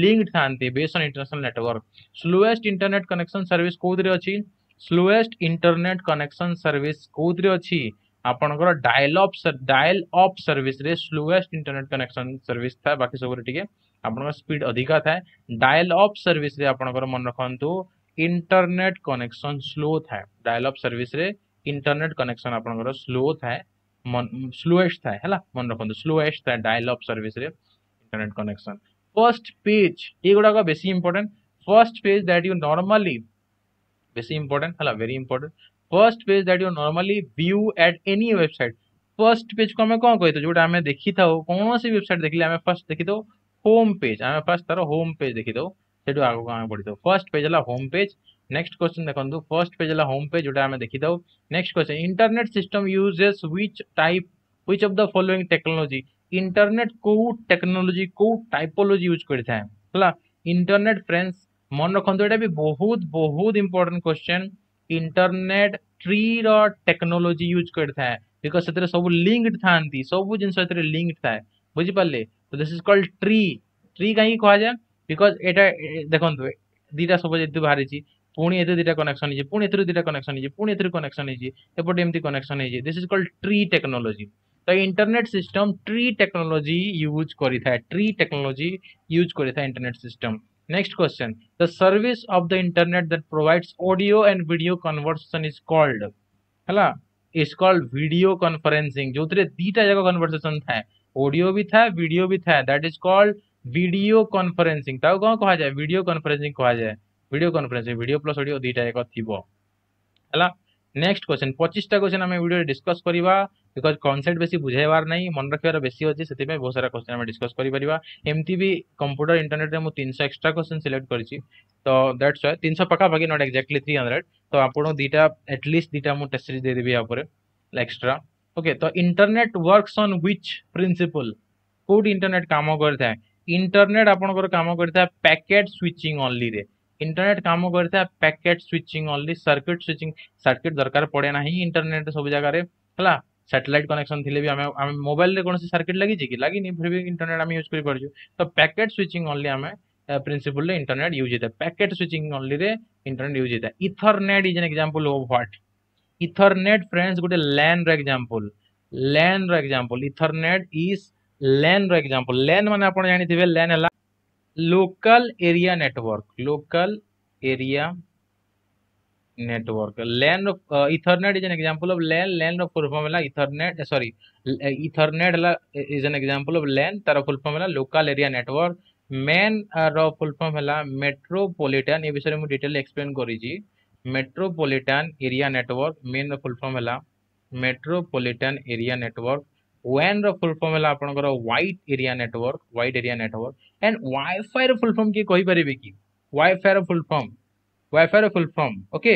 ଲିଙ୍କଡ ଥାନ୍ତି based on international network slowest internet connection service କୋଉଥିରେ ଅଛି ସ୍ଲୋଏଷ୍ଟ ଇଣ୍ଟରନେଟ କନେକ୍ସନ ସର୍ଭିସ କୋଉଥିରେ ଅଛି ଆପଣଙ୍କର ଡାଏଲ ଅପ୍ ଡାଏଲ ଅପ୍ ସର୍ଭିସରେ ସ୍ଲୋଏଷ୍ଟ ଇଣ୍ଟରନେଟ କନେକ୍ସନ ସର୍ଭିସ ଥାଏ ବାକି ସବୁରେ ଟିକେ ଆପଣଙ୍କର ସ୍ପିଡ ଅଧିକା ଥାଏ ଡାଏଲ ଅପ୍ ସର୍ଭିସରେ ଆପଣଙ୍କର ମନେ ରଖନ୍ତୁ ଇଣ୍ଟରନେଟ କନେକ୍ସନ ସ୍ଲୋ ଥାଏ ଡାଏଲ ଅପ୍ ସର୍ଭିସରେ ଇଣ୍ଟରନେଟ କନେକ୍ସନ ଆପଣଙ୍କର ସ୍ଲୋ ଥାଏ ସ୍ଲୋଏଷ୍ଟ ଥାଏ ହେଲା ମନେ ରଖନ୍ତୁ ସ୍ଲୋଏଷ୍ଟ ଥାଏ ଡାଏଲ ଅପ୍ ସର୍ଭିସରେ ଇଣ୍ଟରନେଟ କନେକ୍ସନ ଫର୍ଷ୍ଟ ପେଜ ଏଗୁଡ଼ାକ ବେଶୀ important first page that you normally ବେଶୀ ଇମ୍ପୋର୍ଟାଣ୍ଟ ହେଲା very important first page that you normally view at any website first page କୁ ଆମେ କଣ କହିଥାଉ ଯୋଉଟା ଆମେ ଦେଖିଥାଉ କୌଣସି ୱେବସାଇଟ୍ ଦେଖିଲେ ଆମେ ଫାର୍ଷ୍ଟ ଦେଖିଥାଉ ହୋମ ପେଜ ଆମେ ଫାର୍ଷ୍ଟ ତାର ହୋମ ପେଜ ଦେଖିଥାଉ ସେଠୁ ଆଗକୁ ଆମେ ପଢିଥାଉ ଫର୍ଷ୍ଟ ପେଜ ହେଲା ହୋମ ପେଜ ନେକ୍ସଟ କ୍ୱେଶ୍ଚନ ଦେଖନ୍ତୁ ଫର୍ଷ୍ଟ ପେଜ ହେଲା ହୋମ ପେଜ ଯୋଉଟା ଆମେ ଦେଖିଥାଉ next question internet system uses which type which of the following technology internet କୋଉ ଟେକ୍ନୋଲୋଜି କୋଉ ଟାଇପୋଲୋଜି ୟୁଜ କରିଥାଏ ହେଲା ଇଣ୍ଟରନେଟ ଫ୍ରେଣ୍ଡସ୍ ମନେ ରଖନ୍ତୁ ଏଇଟା ବି ବହୁତ ବହୁତ ଇମ୍ପୋର୍ଟାଣ୍ଟ କ୍ୱେଶ୍ଚନ ଇଣ୍ଟରନେଟ ଟ୍ରି ର ଟେକ୍ନୋଲୋଜି ୟୁଜ କରିଥାଏ because ସେଥିରେ ସବୁ ଲିଙ୍କଡ ଥାନ୍ତି ସବୁ ଜିନିଷ ଏଥିରେ ଲିଙ୍କଡ ଥାଏ ବୁଝିପାରିଲେ ତ this is called tree tree କାହିଁକି କୁହାଯାଏ because ଏଇଟା ଦେଖନ୍ତୁ ଦିଟା ସବୁ ଯେହେତୁ ବାହାରିଛି ପୁଣି ଏଥିରେ ଦିଟା କନେକ୍ସନ ହେଇଛି ପୁଣି ଏଥିରୁ ଦିଟା କନେକ୍ସନ ହେଇଛି ପୁଣି ଏଥିରୁ କନେକ୍ସନ ହେଇଛି ଏପଟେ ଏମିତି କନେକ୍ସନ ହେଇଛି this is called tree technology ତ internet system tree technology use କରିଥାଏ ଟ୍ରି ଟେକ୍ନୋଲୋଜି ୟୁଜ କରିଥାଏ internet system next question the service of the internet that provides audio and video conversation is called ହେଲା is called video conferencing ଯୋଉଥିରେ ଦିଟା ଯାକ କନଭରସେସନ ଥାଏ ଅଡିଓ ବି ଥାଏ ଭିଡିଓ ବି ଥାଏ that is called video conferencing ତାକୁ କଣ କୁହାଯାଏ ଭିଡିଓ କନଫରେନ୍ସିଂ କୁହାଯାଏ video conferencing video plus audio ଦିଟା ଯାକ ଥିବ ହେଲା ନେକ୍ସଟ କ୍ୱେଶ୍ଚନ ପଚିଶଟା କ୍ୱେଶ୍ଚନ ଆମେ ଭିଡିଓରେ ଡିସ୍କସ୍ କରିବା because concept ବେଶୀ ବୁଝାଇବାର ନାହିଁ ମନେ ରଖିବାର ବେଶୀ ଅଛି ସେଥିପାଇଁ ବହୁତ ସାରା କ୍ୱେଶ୍ଚନ ଆମେ ଡିସ୍କସ୍ କରିପାରିବା ଏମିତି ବି କମ୍ପ୍ୟୁଟର ଇଣ୍ଟରନେଟରେ ମୁଁ ତିନିଶହ ଏକ୍ସଟ୍ରା କ୍ୱେଶ୍ଚନ ସିଲେକ୍ଟ କରିଛି ତ that's Y ତିନିଶହ ପାଖାପାଖି not exactly three hundred ତ ଆପଣଙ୍କୁ ଦିଟା ଆଟଲିଷ୍ଟ ଦିଟା ମୁଁ ଟେଷ୍ଟ ସିରିଜ ଦେଇଦେବି ୟା ଉପରେ ଏକ୍ସଟ୍ରା ଓକେ ତ internet works on which principle କୋଉଠି ଇଣ୍ଟରନେଟ କାମ କରିଥାଏ ଇଣ୍ଟରନେଟ ଆପଣଙ୍କର କାମ କରିଥାଏ ପ୍ୟାକେଟ ସୁଇଚିଂ ଅନଲିରେ ଇଣ୍ଟରନେଟ କାମ କରିଥାଏ packet switching only circuit switching circuit ଦରକାର ପଡେ ନାହିଁ ଇଣ୍ଟରନେଟ ସବୁ ଜାଗାରେ ହେଲା ସାଟେଲାଇଟ କନେକ୍ସନ ଥିଲେ ବି ଆମେ ଆମେ ମୋବାଇଲରେ କୌଣସି ସର୍କିଟ ଲାଗିଛି କି ଲାଗିନି ଫିର ବି ଇଣ୍ଟରନେଟ ଆମେ ୟୁଜ କରିପାରୁଛୁ ତ ପ୍ୟାକେଟ ସୁଇଚିଂ ଅନଲି ଆମେ ପ୍ରିନ୍ସିପଲରେ ଇଣ୍ଟରନେଟ ୟୁଜ ହେଇଥାଏ ପ୍ୟାକେଟ ସୁଇଚିଂ ଅନଲିରେ ଇଣ୍ଟରନେଟ ୟୁଜ ହେଇଥାଏ ethernet is an example of what ethernet friends ଗୋଟେ ଲ୍ୟାନ୍ ର ଏକ୍ସାମ୍ପଲ ଲ୍ୟାନ୍ ର ଏକ୍ସାମ୍ପଲ ଇଥରନେଟ is LAN ର ଏକ୍ସାମ୍ପଲ ଲ୍ୟାନ୍ ମାନେ ଆପଣ ଜାଣିଥିବେ ଲ୍ୟାନ୍ ହେଲା local area network local area network LAN Ethernet is an example of LAN LAN ର ଫୁଲ୍ ଫର୍ମ ହେଲା ଇଥରନେଟ୍ ସରି ଇଥରନେଟ୍ ହେଲା is an example of LAN ତାର ଫୁଲ୍ ଫର୍ମ ହେଲା ଲୋକାଲ ଏରିଆ ନେଟୱାର୍କ ମ୍ୟାନ୍ ର ଫୁଲ୍ ଫର୍ମ ହେଲା ମେଟ୍ରୋପଲିଟାନ ଏ ବିଷୟରେ ମୁଁ ଡିଟେଲ ଏକ୍ସପ୍ଲେନ କରିଛି ମେଟ୍ରୋପଲିଟାନ ଏରିଆ ନେଟୱାର୍କ ମେନ୍ ର ଫୁଲ୍ ଫର୍ମ ହେଲା ମେଟ୍ରୋପଲିଟାନ ଏରିଆ ନେଟୱାର୍କ ୱାନ୍ ର ଫୁଲ୍ ଫର୍ମ ହେଲା ଆପଣଙ୍କର wide area network wide area network and WiFi ର ଫୁଲ୍ ଫର୍ମ କିଏ କହିପାରିବେ କି ୱାଇଫାଇ ର ଫୁଲ୍ ଫର୍ମ ୱାଇଫାଇ ର ଫୁଲ୍ ଫର୍ମ ଓକେ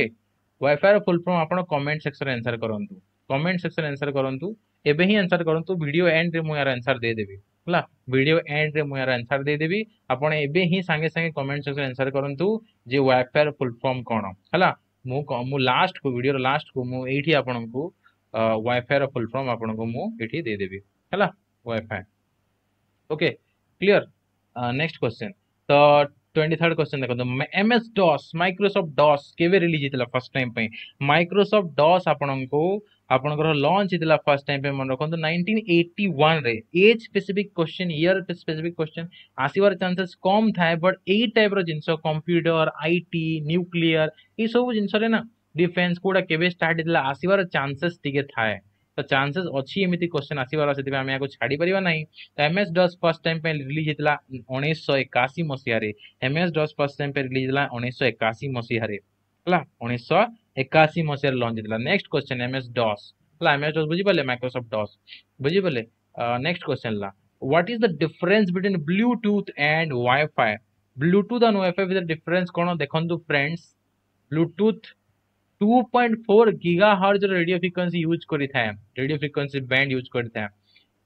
ୱାଇଫାଇ ର ଫୁଲ୍ ଫର୍ମ ଆପଣ କମେଣ୍ଟ ସେକ୍ସନରେ ଆନ୍ସର କରନ୍ତୁ କମେଣ୍ଟ ସେକ୍ସନରେ ଆନ୍ସର କରନ୍ତୁ ଏବେ ହିଁ ଆନ୍ସର କରନ୍ତୁ ଭିଡ଼ିଓ ଏଣ୍ଡରେ ମୁଁ ୟାର ଆନ୍ସର ଦେଇଦେବି ହେଲା ଭିଡ଼ିଓ ଏଣ୍ଡରେ ମୁଁ ୟାର ଆନ୍ସର ଦେଇଦେବି ଆପଣ ଏବେ ହିଁ ସାଙ୍ଗେ ସାଙ୍ଗେ କମେଣ୍ଟ ସେକ୍ସନରେ ଆନ୍ସର କରନ୍ତୁ ଯେ ୱାଇଫାଇ ର ଫୁଲ୍ ଫର୍ମ କ'ଣ ହେଲା ମୁଁ ମୁଁ ଲାଷ୍ଟକୁ ଭିଡ଼ିଓର ଲାଷ୍ଟକୁ ମୁଁ ଏଇଠି ଆପଣଙ୍କୁ ୱାଇଫାଇ ର ଫୁଲ୍ ଫର୍ମ ଆପଣଙ୍କୁ ମୁଁ ଏଠି ଦେଇଦେବି ହେଲା wifi okay clear next question ତ ଟ୍ୱେଣ୍ଟି ଥାର୍ଡ କ୍ୱେଶ୍ଚନ ଦେଖନ୍ତୁ M S DOS Microsoft DOS କେବେ ରିଲିଜ ହେଇଥିଲା ଫାର୍ଷ୍ଟ ଟାଇମ୍ ପାଇଁ ମାଇକ୍ରୋସଫ୍ଟ ଡସ୍ ଆପଣଙ୍କୁ ଆପଣଙ୍କର ଲଞ୍ଚ ହେଇଥିଲା ଫାର୍ଷ୍ଟ ଟାଇମ୍ ପାଇଁ ମନେ ରଖନ୍ତୁ ନାଇନଟିନ୍ ଏଇଟି ୱାନ୍ରେ age specific question year specific question ଆସିବାର ଚାନ୍ସେସ୍ କମ୍ ଥାଏ ବଟ୍ ଏଇ ଟାଇପ୍ର ଜିନିଷ କମ୍ପ୍ୟୁଟର IT nuclear ଏଇସବୁ ଜିନିଷରେ ନା ଡିଫେନ୍ସ କୋଉଟା କେବେ ଷ୍ଟାର୍ଟ ହେଇଥିଲା ଆସିବାର ଚାନ୍ସେସ୍ ଟିକେ ଥାଏ ତ ଚାନ୍ସେସ୍ ଅଛି ଏମିତି କ୍ୱେଶ୍ଚନ ଆସିବାର ସେଥିପାଇଁ ଆମେ ଏହାକୁ ଛାଡ଼ି ପାରିବା ନାହିଁ ତ ଏମ୍ଏସ୍ ଡସ୍ ଫାର୍ଷ୍ଟ ଟାଇମ୍ ପାଇଁ ରିଲିଜ ହେଇଥିଲା ଉଣେଇଶହ ଏକାଅଶୀ ମସିହାରେ ଏମ୍ଏସ୍ ଡସ୍ ଫାର୍ଷ୍ଟ ଟାଇମ୍ ପାଇଁ ରିଲିଜ ହେଇଥିଲା ଉଣେଇଶହ ଏକାଅଶୀ ମସିହାରେ ହେଲା ଉଣେଇଶହ ଏକାଅଶୀ ମସିହାରେ ଲଞ୍ଚ ହେଇଥିଲା ନେକ୍ସଟ କ୍ୱେଶ୍ଚନ ଏମ୍ଏସ୍ ଡସ୍ ହେଲା ଏମ୍ଏସ୍ ଡସ୍ ବୁଝିପାରିଲେ ମାଇକ୍ରୋସଫ୍ଟ ଡସ୍ ବୁଝିପାରିଲେ ନେକ୍ସଟ କ୍ୱେଶ୍ଚନ ହେଲା what is the difference between bluetooth and wi-fi bluetooth and wi-fi ଭିତରେ ଡିଫରେନ୍ସ କ'ଣ ଦେଖନ୍ତୁ friends bluetooth two point four gigahertz radio frequency use କରିଥାଏ ରେଡିଓ ଫ୍ରିକ୍ୱେନ୍ସି ବ୍ୟାଣ୍ଡ ୟୁଜ୍ କରିଥାଏ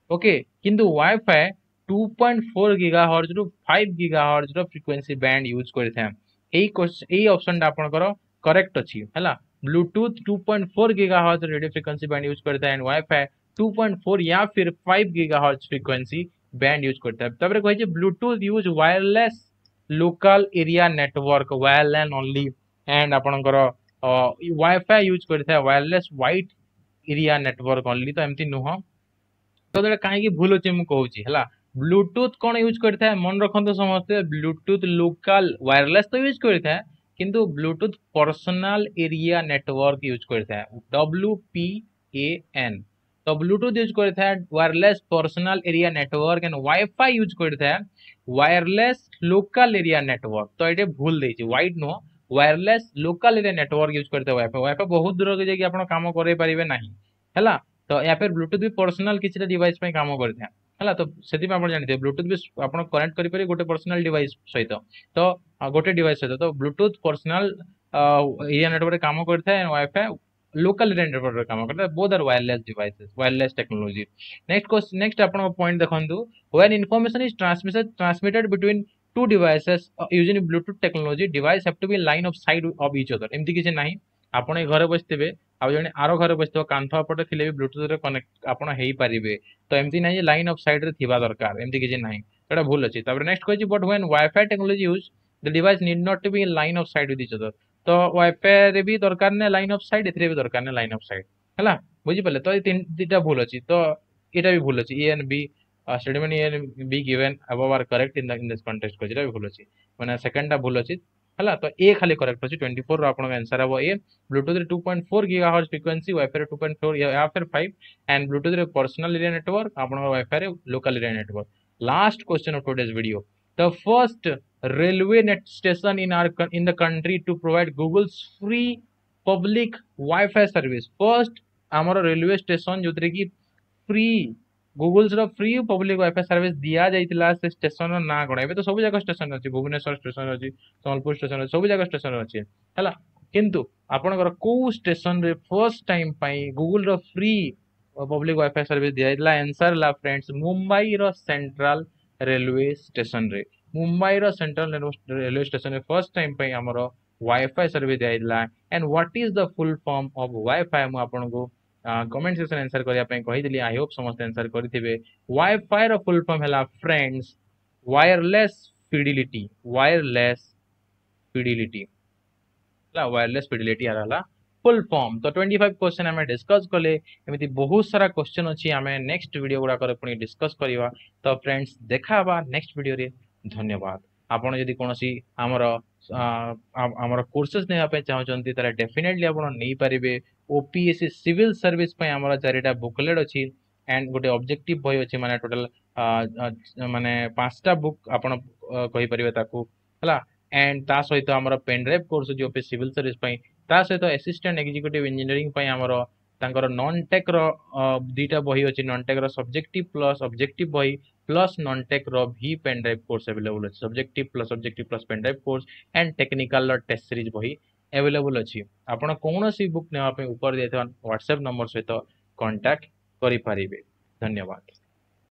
ଓକେ କିନ୍ତୁ wifi two point four gigahertz ରୁ ଫାଇଭ ଗିଗା ହର୍ଜ ର ଫ୍ରିକ୍ୱେନ୍ସି ବ୍ୟାଣ୍ଡ ୟୁଜ୍ କରିଥାଏ ଏଇ ଏଇ ଅପସନଟା ଆପଣଙ୍କର କରେକ୍ଟ ଅଛି ହେଲା Bluetooth two point four gigahertz radio frequency band use କରିଥାଏ and wifi two point four या फिर five gigahertz frequency band use କରିଥାଏ ତାପରେ କହିଛି Bluetooth use wireless local area network wireless only and ଆପଣଙ୍କର ୱାଇଫାଇ ୟୁଜ୍ କରିଥାଏ wireless wide area network only ତ ଏମିତି ନୁହଁ ତ ଏଇଟା କାହିଁକି ଭୁଲ ଅଛି ମୁଁ କହୁଛି ହେଲା ବ୍ଲୁଟୁଥ କ'ଣ ୟୁଜ୍ କରିଥାଏ ମନେ ରଖନ୍ତୁ ସମସ୍ତେ ବ୍ଲୁଟୁଥ ଲୋକାଲ ୱାୟରଲେସ୍ ତ ୟୁଜ୍ କରିଥାଏ କିନ୍ତୁ Bluetooth personal area network use କରିଥାଏ ଡବ୍ଲ୍ୟୁ ପି ଏ ଏନ୍ ତ ବ୍ଲୁଟୁଥ ୟୁଜ୍ କରିଥାଏ wireless personal area network and WiFi use କରିଥାଏ ୱାୟରଲେସ୍ ଲୋକାଲ ଏରିଆ ନେଟୱାର୍କ ତ ଏଇଠି ଭୁଲ ଦେଇଛି ୱାଇଡ୍ ନୁହଁ wireless local area network use କରିଥାଏ ୱାଇଫାଇ ୱାଇଫାଇ ବହୁତ ଦୂରକୁ ଯାଇକି ଆପଣ କାମ କରେଇ ପାରିବେ ନାହିଁ ହେଲା ତ ୟା ଫିର ବ୍ଲୁଟୁଥ ବି ପର୍ସନାଲ କିଛିଟା ଡିଭାଇସ୍ ପାଇଁ କାମ କରିଥାଏ ହେଲା ତ ସେଥିପାଇଁ ଆପଣ ଜାଣିଥିବେ ବ୍ଲୁଟୁଥ ବି ଆପଣ କନେକ୍ଟ କରିପାରିବେ ଗୋଟେ ପର୍ସନାଲ ଡିଭାଇସ୍ ସହିତ ତ ଗୋଟେ ଡିଭାଇସ୍ ସହିତ ତ ବ୍ଲୁଟୁଥ ପର୍ସନାଲ ଏରିଆ ନେଟୱାର୍କରେ କାମ କରିଥାଏ ୱାଇଫାଇ ଲୋକାଲ ଏରିଆ ନେଟୱାର୍କରେ କାମ କରିଥାଏ both are wireless devices wireless technology next question next ଆପଣଙ୍କ ପଏଣ୍ଟ ଦେଖନ୍ତୁ when information is transmitted transmitted between two devices uh, using bluetooth technology device have to be line of sight of each other ଏମିତି କିଛି ନାହିଁ ଆପଣ ଏଇ ଘରେ ବସିଥିବେ ଆଉ ଜଣେ ଆର ଘରେ ବସିଥିବ କାନ୍ଥ ପଟେ ଥିଲେ ବି ବ୍ଲୁଟୁଥରେ କନେକ୍ଟ ଆପଣ ହେଇପାରିବେ ତ ଏମିତି ନାହିଁ ଯେ ଲାଇନ୍ ଅଫ୍ ସାଇଟ୍ରେ ଥିବା ଦରକାର ଏମିତି କିଛି ନାହିଁ ସେଟା ଭୁଲ ଅଛି ତାପରେ ନେକ୍ସଟ କହିଛି but when WiFi technology use the device need not to be in line of sight with each other ତ ୱାଇଫାଇରେ ବି ଦରକାର ନାହିଁ ଲାଇନ୍ ଅଫ୍ ସାଇଟ୍ ଏଥିରେ ବି ଦରକାର ନାହିଁ ଲାଇନ୍ ଅଫ୍ ସାଇଟ୍ ହେଲା ବୁଝିପାରିଲେ ତ ଏଇ ତିନି ଦିଟା ଭୁଲ ଅଛି ତ ଏଇଟା ବି ଭୁଲ ଅଛି A and B statement A and B given above are correct in the in this context କହିଛି ଏଇଟା ବି ଭୁଲ ଅଛି ମାନେ ସେକେଣ୍ଡଟା ଭୁଲ ଅଛି ହେଲା ତ ଏ ଖାଲି କରେକ୍ଟ ଅଛି ଟ୍ୱେଣ୍ଟି ଫୋର୍ ଆପଣଙ୍କ ଆନ୍ସର ହେବ ଏ ବ୍ଲୁଟୁଥରେ two point four gigahertz frequency ୱାଇଫାଇରେ two point four या फिर ଫାଇଭ ଆଣ୍ଡ ବ୍ଲୁଟୁଥରେ ପର୍ସନାଲ ଏରିଆ ନେଟୱାର୍କ ଆପଣଙ୍କ ୱାଇଫାଇରେ local area network last question of today's video the first railway net station in our in the country to provide google's free public wi-fi service first ଆମର ରେଲୱେ ଷ୍ଟେସନ ଯୋଉଥିରେ କି ଫ୍ରି ଗୁଗଲ୍ସ ର ଫ୍ରି ପବ୍ଲିକ ୱାଇଫାଇ ସର୍ଭିସ ଦିଆଯାଇଥିଲା ସେ ଷ୍ଟେସନର ନାଁ କଣ ଏବେ ତ ସବୁ ଜାଗା ଷ୍ଟେସନ ଅଛି ଭୁବନେଶ୍ୱର ଷ୍ଟେସନ ଅଛି ସମ୍ବଲପୁର ଷ୍ଟେସନ ଅଛି ସବୁ ଜାଗା ଷ୍ଟେସନ ଅଛି ହେଲା କିନ୍ତୁ ଆପଣଙ୍କର କୋଉ ଷ୍ଟେସନରେ ଫର୍ଷ୍ଟ ଟାଇମ ପାଇଁ ଗୁଗଲର ଫ୍ରି ପବ୍ଲିକ ୱାଇଫାଇ ସର୍ଭିସ ଦିଆଯାଇଥିଲା ଆନ୍ସର ହେଲା ଫ୍ରେଣ୍ଡସ୍ ମୁମ୍ବାଇର ସେଣ୍ଟ୍ରାଲ ରେଲୱେ ଷ୍ଟେସନରେ ମୁମ୍ବାଇର ସେଣ୍ଟ୍ରାଲ ରେଲୱେ ଷ୍ଟେସନରେ ଫର୍ଷ୍ଟ ଟାଇମ ପାଇଁ ଆମର ୱାଇଫାଇ ସର୍ଭିସ ଦିଆଯାଇଥିଲା and what is the full form of WiFi ମୁଁ ଆପଣଙ୍କୁ କମେଣ୍ଟ ସେକ୍ସନ ଆନ୍ସର କରିବା ପାଇଁ କହିଥିଲି I Hope ସମସ୍ତେ ଆନ୍ସର କରିଥିବେ ୱାଇଫାଇ ର ଫୁଲ୍ ଫର୍ମ ହେଲା ଫ୍ରେଣ୍ଡସ୍ ୱାୟରଲେସ୍ ଫିଡିଲିଟି ୱାୟରଲେସ୍ ଫିଡିଲିଟି ହେଲା ୱାୟରଲେସ୍ ଫିଡିଲିଟି ୟାର ହେଲା ଫୁଲ୍ ଫର୍ମ ତ ଟ୍ୱେଣ୍ଟି ଫାଇଭ୍ କ୍ୱେଶ୍ଚନ ଆମେ ଡିସ୍କସ୍ କଲେ ଏମିତି ବହୁତ ସାରା କ୍ୱେଶ୍ଚନ ଅଛି ଆମେ ନେକ୍ସଟ ଭିଡ଼ିଓ ଗୁଡ଼ାକରେ ପୁଣି ଡିସ୍କସ୍ କରିବା ତ ଫ୍ରେଣ୍ଡସ୍ ଦେଖା ହେବା ନେକ୍ସଟ ଭିଡ଼ିଓରେ ଧନ୍ୟବାଦ ଆପଣ ଯଦି କୌଣସି ଆମର ଆମର କୋର୍ସେସ୍ ନେବା ପାଇଁ ଚାହୁଁଛନ୍ତି ତାହେଲେ ଡେଫିନେଟଲି ଆପଣ ନେଇପାରିବେ ଓପିଏସସି ସିଭିଲ ସର୍ଭିସ ପାଇଁ ଆମର ଚାରିଟା ବୁକଲେଟ୍ ଅଛି ଆଣ୍ଡ ଗୋଟେ ଅବଜେକ୍ଟିଭ ବହି ଅଛି ମାନେ ଟୋଟାଲ ମାନେ ପାଞ୍ଚଟା ବୁକ୍ ଆପଣ କହିପାରିବେ ତାକୁ ହେଲା ଆଣ୍ଡ ତା ସହିତ ଆମର ପେନ୍ ଡ୍ରାଇଭ୍ କୋର୍ସ ଅଛି ଓପିଏସସି ସିଭିଲ ସର୍ଭିସ ପାଇଁ ତା ସହିତ ଆସିଷ୍ଟାଣ୍ଟ ଏକ୍ଜିକ୍ୟୁଟିଭ ଇଞ୍ଜିନିୟରିଂ ପାଇଁ ଆମର ତାଙ୍କର ନନ୍ ଟେକ୍ର ଦୁଇଟା ବହି ଅଛି ନନ୍ ଟେକ୍ର ସବଜେକ୍ଟିଭ ପ୍ଲସ୍ ଅବଜେକ୍ଟିଭ ବହି ପ୍ଲସ୍ ନନ୍ ଟେକ୍ର ଭି ପେନ୍ ଡ୍ରାଇଭ୍ କୋର୍ସ ଆଭେଲେବୁଲ୍ ଅଛି subjective plus objective plus pen drive course and ଟେକ୍ନିକାଲର test series ବହି ଆଭେଲେବୁଲ୍ ଅଛି ଆପଣ କୌଣସି ବୁକ୍ ନେବା ପାଇଁ ଉପରେ ଦେଇଥିବା ହ୍ୱାଟ୍ସଆପ୍ ନମ୍ବର ସହିତ କଣ୍ଟାକ୍ଟ କରିପାରିବେ ଧନ୍ୟବାଦ